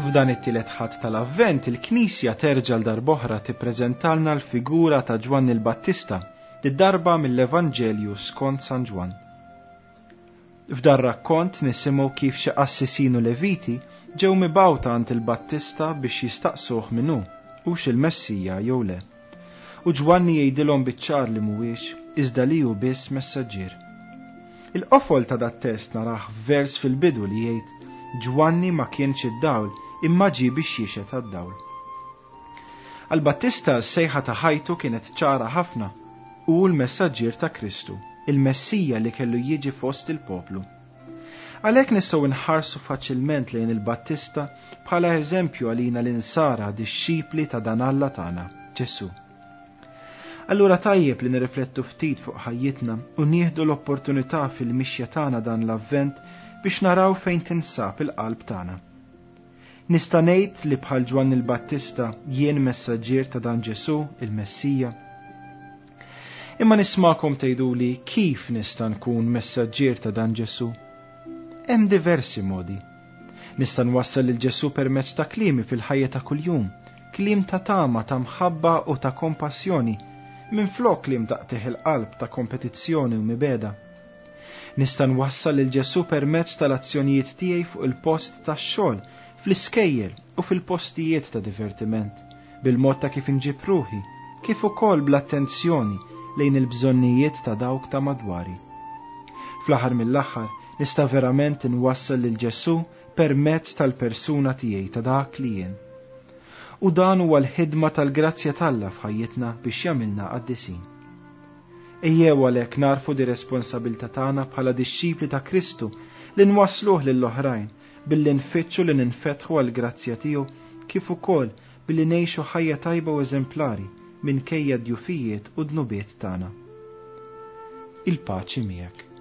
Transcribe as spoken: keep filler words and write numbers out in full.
F'dan it-tielet Ħadd tal-Avvent, il-Knisja terġa' l darb'oħra tippreżentalna l-figura ta' Ġwanni l-Battista, darba mill-Evanġelju skont San Ġwann. F'dar rakkont nisimgħu kif xi qassisin u leviti ġew mibgħuta għand il-Battista biex jistaqsuh min hu, hux il-Messija jew le. U Ġwanni jgħidilhom biċ-ċar li mhuwiex, iżda li hu biss messaġġier. Il-qofol ta' dat-test narah f'vers fil-bidu li jgħid: "Ġwanni ma kienx id-dawl, imma ġie biex jixhed għad-dawl." Għal-Battista s-sejħa ta' ħajtu kienet ċara ħafna: hu l-messaġġier ta' Kristu, il-Messija li kellu jiġi fost il-poplu. Għalhekk nistgħu nħarsu faċilment lejn il-Battista bħala eżempju għalina l-insara, dixxipli ta' dan Alla tagħna, Ġesù. Allura tajjeb li nirriflettu ftit fuq ħajjitna u nieħdu l-opportunità fil-mixja tagħna dan l-Avvent biex naraw fejn tinsab il-qalb tagħna. Nista' ngħid li bħal Ġwanni l-Battista jien messaġġier ta' dan Ġesù, il-Messija? Imma nismakom tgħiduli: kif nista' nkun messaġġier ta' dan Ġesù? Hemm diversi modi. Nista' nwassal lil Ġesù permezz ta' kliemi fil-ħajja ta' kuljum, kliem ta' tama, ta' mħabba u ta' kompassjoni, minflok kliem ta' qtigħ il-qalb, ta' kompetizzjoni u mibegħda. Nista' nwassal lil Ġesù permezz tal-azzjonijiet tiegħi fuq il-post tax-xogħol, fl-iskejjel u fil-postijiet ta' divertiment, bil-mod ta' kif inġib ruħi, kif ukoll bl-attenzjoni lejn il-bżonnijiet ta' dawk ta' madwari. Fl-aħħar mill-aħħar, nista' verament inwassal lil Ġesù permezz tal-persuna tiegħi, ta' dak li jien. U dan huwa l-ħidma tal-grazzja t'Alla f'ħajjitna biex jagħmilna qaddisin. Ejjew għalhekk nagħrfu di responsabilità tagħna bħala dixxipli ta' Kristu li nwassluh lill-oħrajn billi nfittxu li ninfetħu għall-grazzja tiegħu, kif ukoll billi ngħixu ħajja tajba u eżemplari minkejja d-djufijiet u dnubiet tagħna. Il-paċi miegħek.